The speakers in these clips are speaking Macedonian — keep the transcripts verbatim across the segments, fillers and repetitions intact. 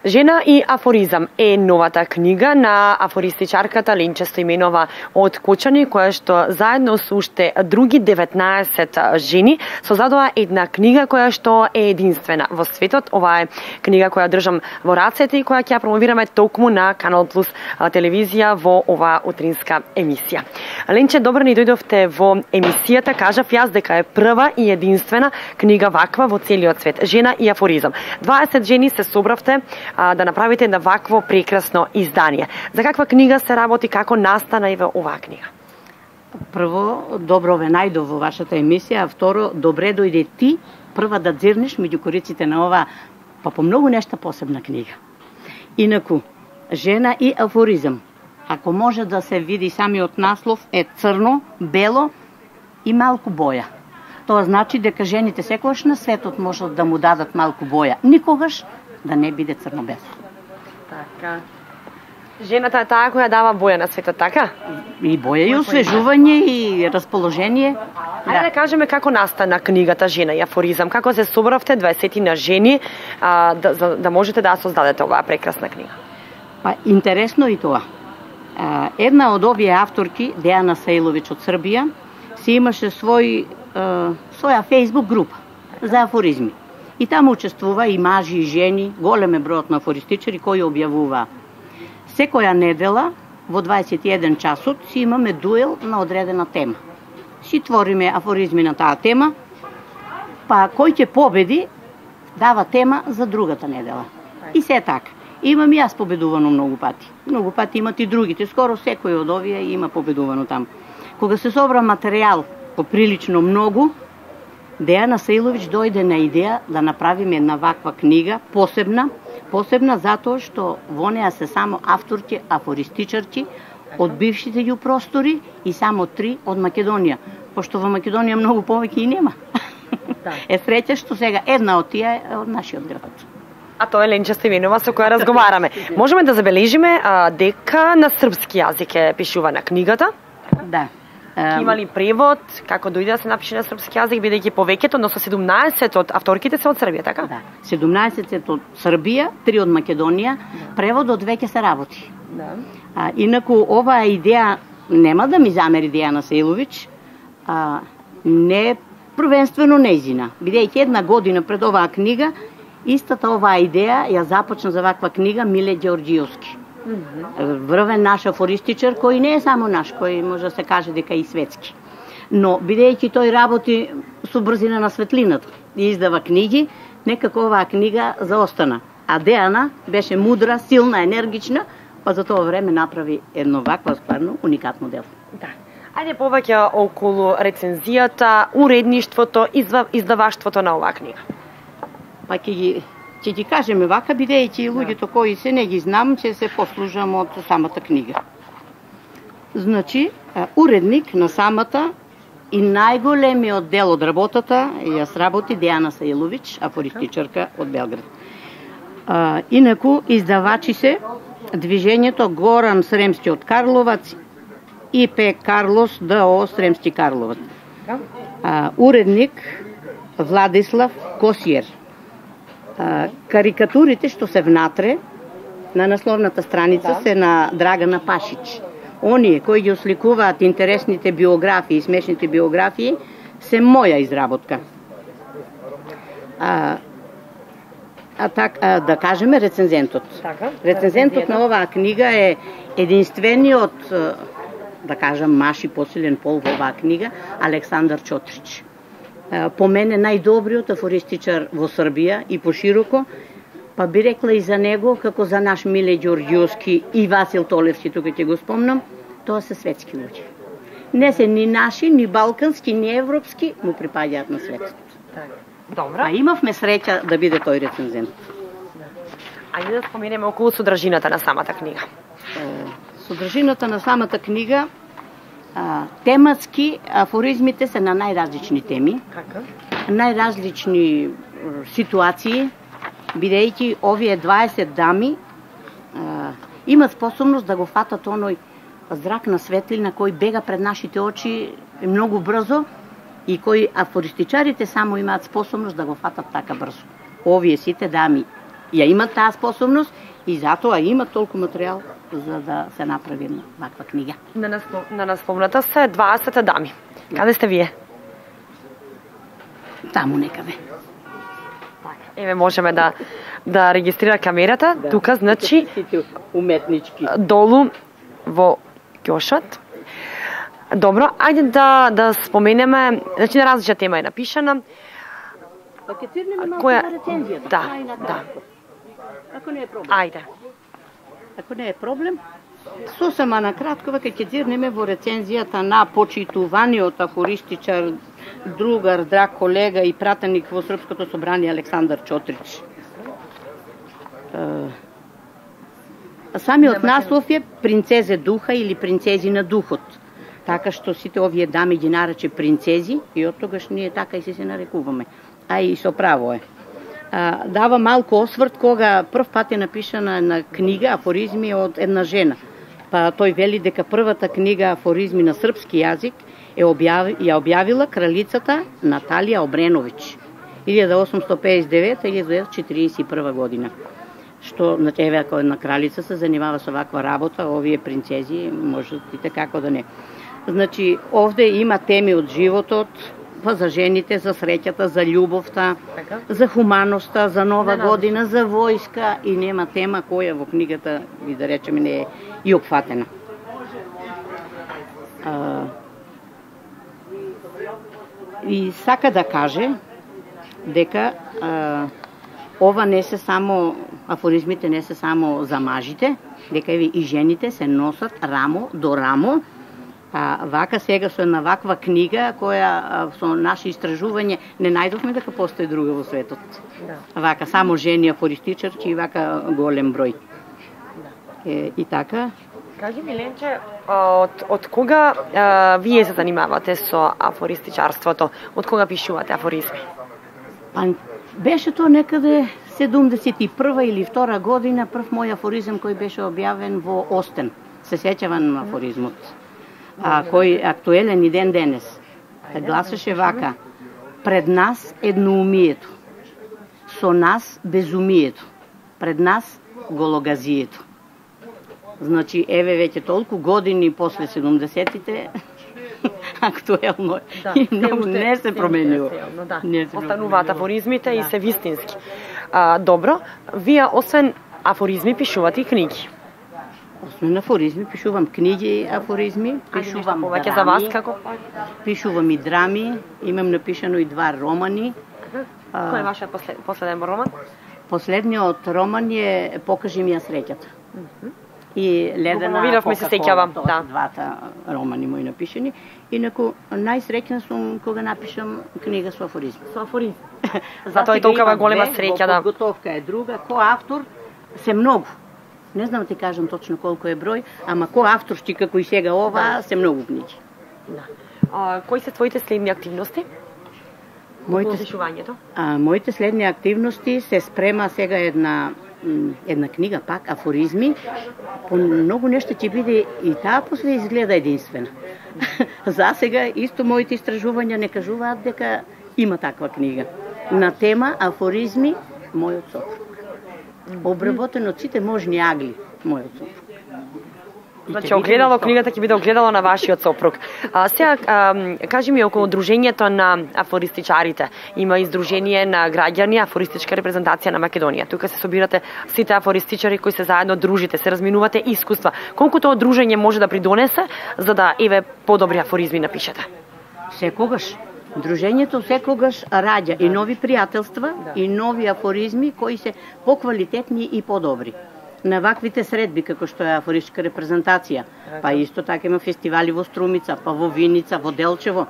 Жена и афоризам е новата книга на афористичарката Ленче Стоименова од Кочани, која што заедно со уште други деветнаесет жени создадоа една книга која што е единствена во светот. Ова е книга која држам во рацете и која ќе ја промовираме токму на Канал Плюс телевизија во оваа утринска емисија. Ленче, добро ни дојдовте во емисијата. Кажав јас дека е прва и единствена книга ваква во целиот свет. Жена и афоризам. дваесет жени се собравте а, да направите една вакво прекрасно издание. За каква книга се работи, како настана и во оваа книга? Прво, добро ве најдов во вашата емисија, а второ, добре дојде ти прва да дзирнеш меѓу кориците на ова, па по многу нешта посебна книга. Инаку, жена и афоризам. Ако може да се види самиот наслов, е црно, бело и малку боја. Тоа значи дека жените секогаш на светот можат да му дадат малку боја. Никогаш да не биде црно-бело. Така. Жената е таа која дава боја на светот, така? И боја и освежување и расположение. Ајде да кажеме како настана книгата Жена и афоризам. Како се собравте дваесет на жени а, да, за, да можете да создадете оваа прекрасна книга? Па интересно и тоа. А, една од овие авторки, Дејана Саиловиќ од Србија, си имаше свој своја фејсбук група за афоризми. И таму учествува и мажи и жени, голем е бројот на афористичари кои објавува. Секоја недела во дваесет и еден часот си имаме дуел на одредена тема. Си твориме афоризми на таа тема, па кој ќе победи дава тема за другата недела. И се така. Имам и јас победувано многу пати. Многу пати имат и другите. Скоро секој од овие има победувано таму. Кога се собра материјал поприлично многу, Дејана Саиловиќ дојде на идеја да направиме една ваква книга, посебна, посебна затоа што во неа се само авторки, афористичарки од бившите ју простори и само три од Македонија, пошто во Македонија многу повеќе и нема. Да. Е среќа што сега една од тие е од нашиот град. А тоа е Ленче Стоименова со која разговараме. Можеме да забележиме а, дека на српски јазик е пишувана книгата? Да. Има ли превод, како дојде да се напише на српски јазик, бидејќи повеќето, односно седумнаесет од авторките се од Србија, така? Да, седумнаесет од Србија, три од Македонија, да. Преводот веќе се работи. Да. А, инаку, оваа идеја, нема да ми замери Дејана Саиловиќ, а, не првенствено нејзина, бидејќи една година пред оваа книга, истата оваа идеја ја започна за ваква книга Миле Ѓорѓиовски. Врвен наш афористичар, кој не е само наш, кој може да се каже дека и светски. Но, бидејќи тој работи со брзина на светлината и издава книги, некако оваа книга заостана. А Дејана беше мудра, силна, енергична, па за тоа време направи едно вакво стварно уникатно дело. Да. Ајде повеќе околу рецензијата, уредништвото, издаваштвото на оваа книга. Па ќе ги Ќе ги кажеме вака, бидејќи луѓето кои се не ги знам, ќе се послужам од самата книга. Значи, уредник на самата и најголемиот дел од работата јас работи Дејана Саиловиќ, афористичарка од Белград. А, инаку, издавачи се Движењето Горан Сремски од Карловац и П. Карлос ДО Сремски Карловац. А, уредник Владислав Косиер. Карикатурите што се внатре на насловната страница да. Се на Драгана Пашич. Оние кои ги осликуваат интересните биографии, смешните биографии, се моја изработка. А, а так, а, да кажеме рецензентот. Така, рецензентот на оваа книга е единствениот, да кажам, маш и посилен пол во оваа книга, Александар Чотрич. По мене најдобриот афористичар во Србија и пошироко, па би рекла и за него, како за наш Миле Ѓорѓиовски и Васил Толевски, тука ќе го спомнам, тоа се светски луѓе. Не се ни наши, ни балкански, ни европски, му припаѓаат на светот. Добро. А имавме среќа да биде тој рецензент. Ајде да споменеме околу содржината на самата книга. Содржината на самата книга, тематски афоризмите се на најразлични теми, Кака? најразлични ситуации, бидејќи овие дваесет дами а, имат способност да го фатат оној зрак на светлина кој бега пред нашите очи многу брзо и кои афористичарите само имаат способност да го фатат така брзо. Овие сите дами ја имат таа способност и затоа имат толку материјал за да се направи ваква книга. На, наслов, на насловната се дваесет дами. Каде сте вие? Таму некаде. Еве можеме да да регистрира камерата, да. Тука значи уметнички. Долу во ќошот. Добро, ајде да да споменеме, значи на различна тема е напишана. Па ќе цирнеме малку на рецензијата. Да, да. Ако не е проблем. Ајде. Ако не е проблем, сосема на кратко веќе ќе цирнеме во рецензијата на почитуваниот афористичар, другар, драг колега и пратеник во Српското собрание Александар Чотрич. Самиот наслов е Принцезе духа или Принцези на духот. Така што сите овие дами ги нарече принцези и од тогаш ние така и се се нарекуваме. А и со право е. А, дава малку осврт кога прв пат е напишана на книга афоризми од една жена. Па тој вели дека првата книга афоризми на српски јазик е објави, ја објавила кралицата Наталија Обреновиќ илјада осумстотини пеесет и девета до илјада деветстотини четиридесет и прва година. Што, значи, еве ако една кралица се занимава со ваква работа, овие принцези можат и како да не. Значи, овде има теми од животот, па за жените, за среќата, за љубовта, за хуманоста, за нова не, година, за војска и нема тема која во книгата, и да речеме, не е и опфатена. А, и сака да каже дека а, ова не се само, афоризмите не се само за мажите, дека и жените се носат рамо до рамо. А вака сега со една ваква книга, која со наши истражување не најдовме дека постои друга во светот. Да. Вака само жени афористичарки и вака голем број. Да. Е, и така. Кажи ми, Ленче, од, од кога а, вие се занимавате со афористичарството? Од кога пишувате афоризми? Па, беше тоа некаде седумдесет и прва или втора година, прв мој афоризм кој беше објавен во Остен. Се сеќавам на афоризмот. А, кој актуелен и ден денес. Гласеше вака: пред нас едноумието, со нас безумието, пред нас гологазието. Значи, еве веќе толку години после седумдесетите, актуелно да, и многу не се променило. Да. Остануваат афоризмите да. И се вистински. А, добро, вие освен афоризми пишувате и книги. Освен афоризми, пишувам книги афоризми, пишувам драми, за вас, како? Пишувам и драми, имам напишано и два романи. Кој е вашиот послед, последен роман? Последниот роман е Покажи ми ја среќата. Uh -huh. И Ледена Кока-кола, се сеќавам, да. Двата романи мои напишани. Инаку најсреќна сум кога напишам книга со афоризми. Со афоризми. Затоа е толкова голема среќа, да. Подготовка е друга, кој автор се многу. Не знам да ти кажам точно колку е број, ама кој авторски како и сега ова, да. Се многу книги. Да. А, кои се твоите следни активности? Моите, а, моите следни активности се спрема сега една една книга пак афоризми. По многу нешто ќе биде и таа после изгледа единствена. За сега исто моите истражувања не кажуваат дека има таква книга на тема афоризми мојот сопруг. Обработено од сите можни агли мојот сопруг. Значи, огледало, книгата ќе биде огледало на вашиот сопруг. А, сега, а, кажи ми, околу дружењето на афористичарите. Има издружение на граѓани, афористичка репрезентација на Македонија. Тука се собирате сите афористичари кои се заедно дружите, се разминувате искуства. Колку тоа дружење може да придонесе за да еве подобри афоризми напишете? Секогаш. Дружењето секогаш раѓа и нови пријателства, да. И нови афоризми кои се поквалитетни и подобри. На ваквите средби, како што е афористичка репрезентација, па исто така има фестивали во Струмица, па во Виница, во Делчево,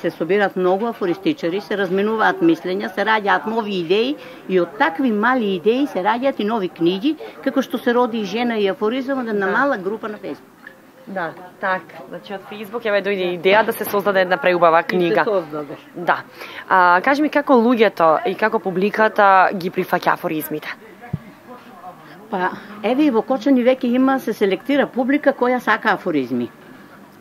се собират многу афористичари, се разменуваат мислења, се раѓаат нови идеи и од такви мали идеи се раѓаат и нови книги, како што се роди и жена и афоризам од една мала група на Фејсбук. Да, така. Значи од Фејсбук еве дојде идеја да се создаде една преубава книга. И се создаде. Да. А, кажи ми како луѓето и како публиката ги прифаќа афоризмите? Па, еве и во Кочани веќе има, се селектира публика која сака афоризми.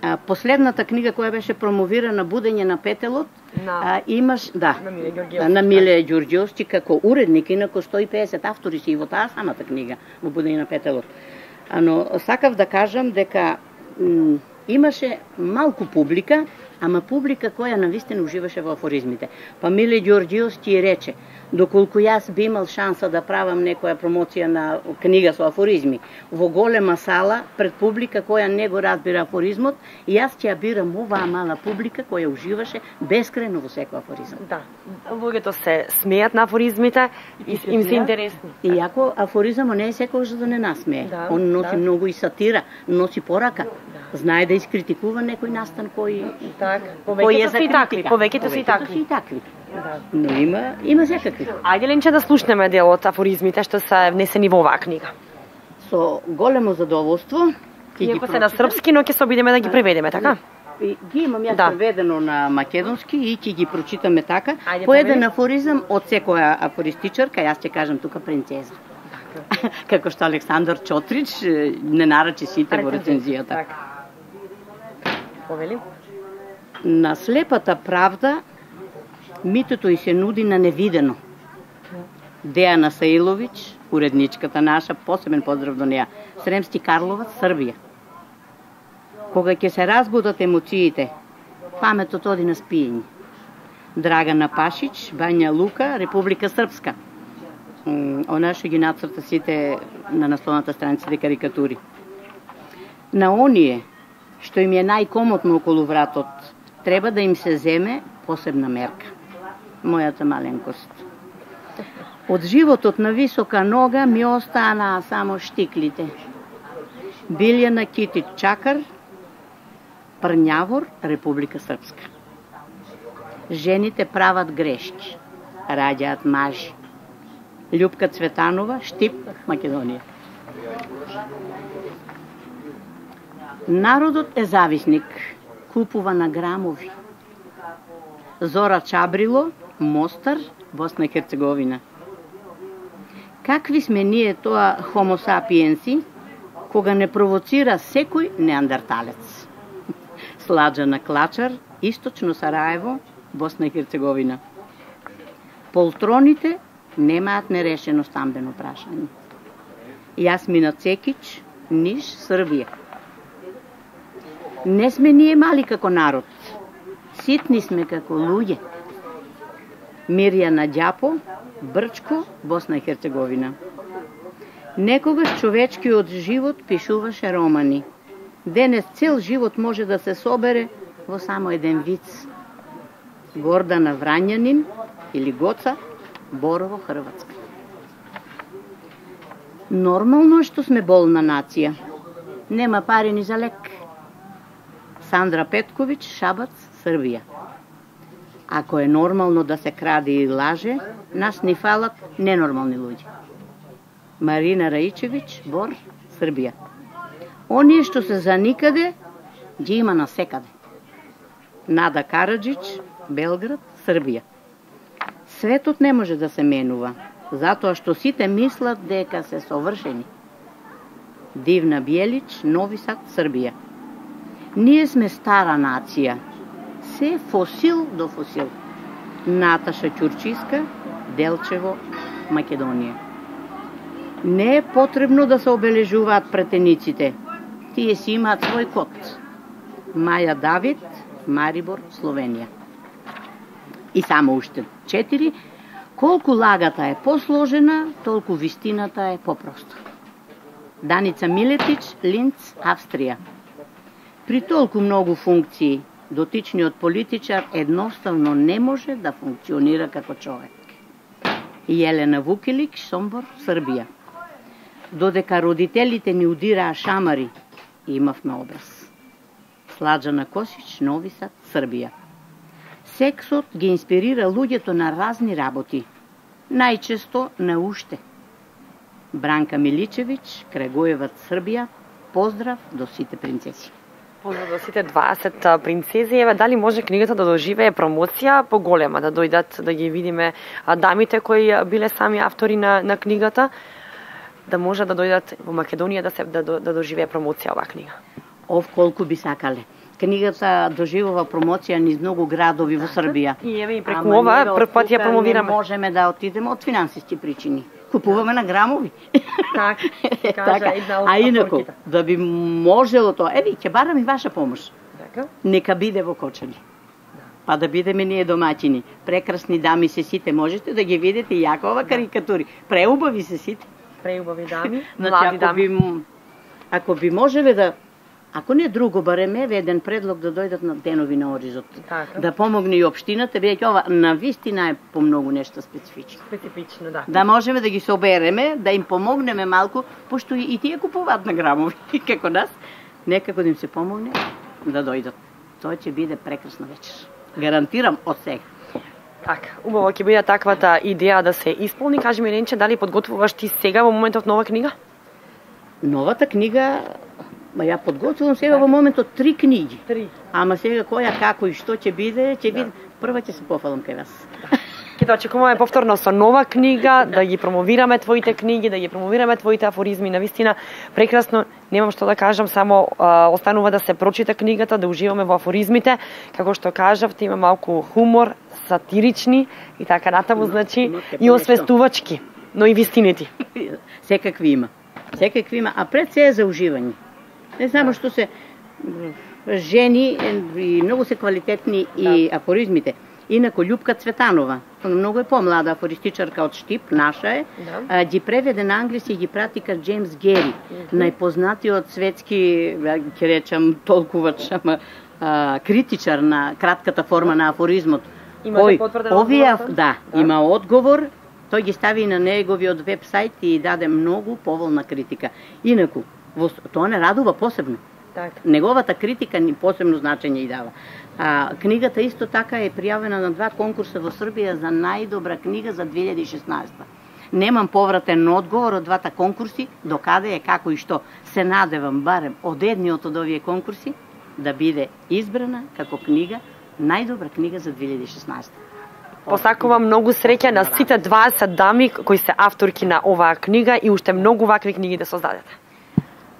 А, последната книга која беше промовирана, Будење на петелот, На, а, имаш, да, на Миле Ѓорѓиовски. на Миле Ѓорѓиовски како уредник, инаку сто и песет автори си и во таа самата книга, во Будења на петелот. Ано, сакав да кажам дека м, имаше малку публика, ама публика која навистина уживаше во афоризмите. Па Миле Ѓорѓиовски рече, доколку јас би имал шанса да правам некоја промоција на книга со афоризми во голема сала пред публика која не го разбира афоризмот, јас ќе ја бирам оваа мала публика која уживаше бескрајно во секој афоризам. Да, луѓето се смеат на афоризмите и им се интересни. Иако афоризамот не е секогаш за да не насмее. Да, Он носи да. многу и сатира, носи порака. Знае да искритикува некој настан кој Так, кој повеќето е се и за такви, критика. повеќето се и Повеќето такви. се и такви. Да. Но има има секакви. Ајде Ленче да слушнеме дел од афоризмите што се внесени во оваа книга. Со големо задоволство ќе ги Иако се на прочитам. српски, но ќе се обидеме да ги преведеме, така? И ги имам јас Да. преведено на македонски и ќе ги прочитаме така. Ајде, По еден преведи. афоризам од секоја афористичарка, јас ќе кажам тука принцеза. Како што Александар Чотрич е, не нарачи сите во рецензијата. Така. Повели? На слепата правда митото и се нуди на невидено. Дејана Саиловиќ, уредничката наша, посебен поздрав до неа. Сремски Карловац, Србија. Кога ќе се разбудат емоциите, паметот оди на спиење. Драгана Пашич, Бања Лука, Република Српска. М, Она што ги нацрта сите на насловната страниците карикатури. На оние што им е најкомотно околу вратот, треба да им се земе посебна мерка. Мојата маленкост. Од животот на висока нога ми останаа само штиклите. Билјана Китич Чакар, Прњавор, Република Српска. Жените прават грешки, раѓаат мажи. Љупка Цветанова, Штип, Македонија. Народот е зависник, купува на грамови. Зора Чабрило, Мостар, Босна и Херцеговина. Какви сме ние тоа хомо сапиенси, кога не провоцира секој неандерталец? Сладжана Клачар, Источно Сараево, Босна и Херцеговина. Полтроните немаат нерешено стамбено прашање. Јасмина Цекич, Ниш, Србија. Не сме ние мали како народ, ситни сме како луѓе. Мирјана Ѓапо, Брчко, Босна и Херцеговина. Некогаш човечкиот живот пишуваше романи. Денес цел живот може да се собере во само еден виц. Гордана Врањанин или Гоца, Борово, Хрватска. Нормално е што сме болна нација. Нема пари ни за лек. Сандра Петковиќ, Шабац, Србија. Ако е нормално да се краде и лаже, нас ни фалат ненормални луѓе. Марина Раичевиќ, Бор, Србија. Оние што се за никаде, ги има насекаде. Нада Караджич, Белград, Србија. Светот не може да се менува, затоа што сите мислат дека се совршени. Дивна Бјелич, Нови Сад, Србија. Ние сме стара нација, се фосил до фосил. Наташа Ќурчиска, Делчево, Македонија. Не е потребно да се обележуваат претениците, тие си имаат свој код. Маја Давид, Марибор, Словенија. И само уште четири, колку лагата е посложена, толку вистината е попроста. Даница Милетич, Линц, Австрија. При толку многу функции, дотичниот политичар едноставно не може да функционира како човек. Јелена Вукилик, Сомбор, Србија. Додека родителите ни удираа шамари, имавме образ. Сладжана Косич, Нови Сад, Србија. Сексот ги инспирира луѓето на разни работи, најчесто на уште. Бранка Миличевиќ, Крагуеваc, Србија. Поздрав до сите принцеси. Поздрав до сите дваесет принцези. Еве, дали може книгата да доживее промоција поголема, да дојдат да ги видиме дамите кои биле сами автори на, на книгата, да може да дојдат во Македонија да се да, да доживее промоција оваа книга? Ов колку би сакале. книгата доживува промоција низ многу градови во Србија. И еве и преку ова прв пат ја промовираме. Не можеме да отидеме од финансиски причини. Купуваме на грамови. Так, кажа една од а инаку, да би можело тоа, еви, ќе барам и ваша помош. Така. Нека биде во Кочани. Па да бидеме ние домаќини. Прекрасни дами се сите, можете да ги видите јакова карикатури. Преубави се сите. Преубави дами, значи, млади ако дами. Би, ако би можеле да, ако не друго, барем еве еден предлог да дојдат на денови на Оризот. Така. Да помогне и општината, бидејќи ова на вистина е по многу нешто специфично. Специфично, да. Да можеме да ги собереме, да им помогнеме малку, пошто и тие купуваат на грамови, како нас, некако да им се помогне да дојдат. Тоа ќе биде прекрасна вечер. Гарантирам од сега. Така, убаво ќе биде таквата идеја да се исполни. Кажи ми, Ленче, дали подготвуваш ти сега во моментот нова книга? Новата книга, ма ја подготвувам сега во моментот три книги. Три. Ама сега која, како и што ќе биде, ќе биде. Прва ќе се пофалам кај вас. Ќе те очекуваме повторно со нова книга, да ги промовираме твоите книги, да ги промовираме твоите афоризми. Навистина, прекрасно, немам што да кажам, само а, останува да се прочита книгата, да уживаме во афоризмите. Како што кажавте, има малку хумор, сатирични и така натаму, значи, и освестувачки, но и вистинити. Секакви има. Секакви има, а пред се е за уживање. Не само што се жени и многу се квалитетни и афоризмите. Инако Љупка Цветанова, многу е помлада афористичарка од Штип, наша е, да. Ги преведе на англиски и ги прати кај Джеймс Гери, mm-hmm. најпознатиот светски, ќе речам, толкувача, ама критичар на кратката форма на афоризмот. Имате потврден овие, одговор? Да, да, има одговор, тој ги стави на неговиот веб-сайт и даде многу поволна критика. Инаку, тоа не радува посебно. Так. Неговата критика ни посебно значење и дава. А, книгата исто така е пријавена на два конкурса во Србија за најдобра книга за две илјади и шеснаесета. Немам повратен одговор од двата конкурси, до каде е, како и што. Се надевам барем од едниот од овие конкурси да биде избрана како книга, најдобра книга за две илјади и шеснаесета. Посакувам многу среќа на сите дваесет дами кои се авторки на оваа книга и уште многу вакви книги да создадете.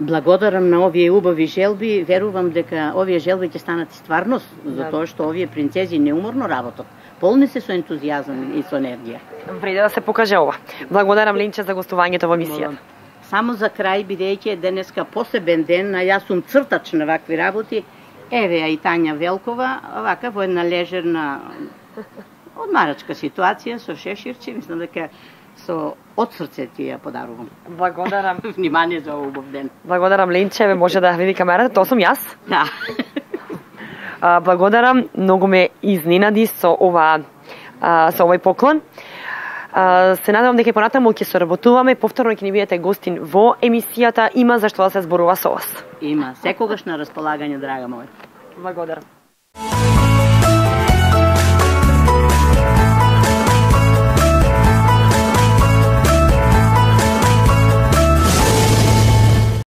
Благодарам на овие убави желби, верувам дека овие желби ќе станат стварност, затоа што овие принцези неуморно работат. Полни се со ентузијазам и со енергија. Вреди да се покаже ова. Благодарам, Ленче, за гостувањето во емисијата. Само за крај, бидејќи е денеска посебен ден, а јас сум цртач на вакви работи, еве ја и Тања Велкова, вака во една лежерна одмарачка ситуација со шеширче, мислам дека со од срце ти ја подарувам. Благодарам. Внимание за овој убав ден. Благодарам, Ленче, ве може да види камерата, тоа сум јас. Да. А, благодарам, многу ме изненади со ова а, со овој поклон. А, се надевам дека и понатаму ќе соработуваме, повторно ќе ни бидете гостин во емисијата, има зашто да се зборува со вас. Има, секогаш на располагање, драга моја. Благодарам.